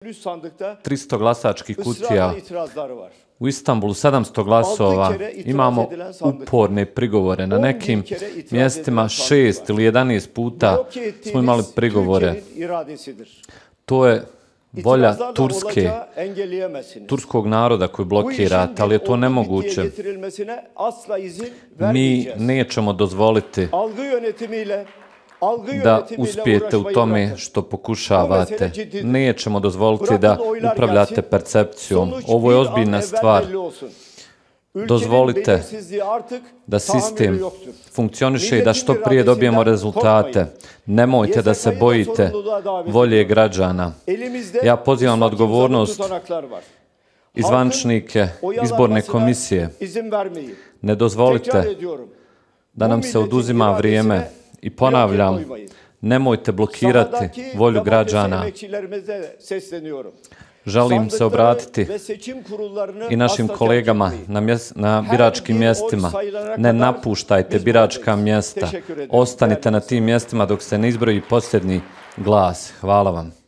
300 glasačkih kutija, u Istanbulu 700 glasova, imamo uporne prigovore. Na nekim mjestima 6 ili 11 puta smo imali prigovore. To je volja turskog naroda koji blokirate, ali je to nemoguće. Mi nećemo dozvoliti da uspijete u tome što pokušavate. Nećemo dozvoliti da upravljate percepcijom. Ovo je ozbiljna stvar. Dozvolite da sistem funkcioniše i da što prije dobijemo rezultate. Nemojte da se bojite volje građana. Ja pozivam na odgovornost i zvaničnike izborne komisije. Ne dozvolite da nam se oduzima vrijeme. I ponavljam, nemojte blokirati volju građana. Želim se obratiti i našim kolegama na biračkim mjestima. Ne napuštajte biračka mjesta. Ostanite na tim mjestima dok se ne izbroji posljednji glas. Hvala vam.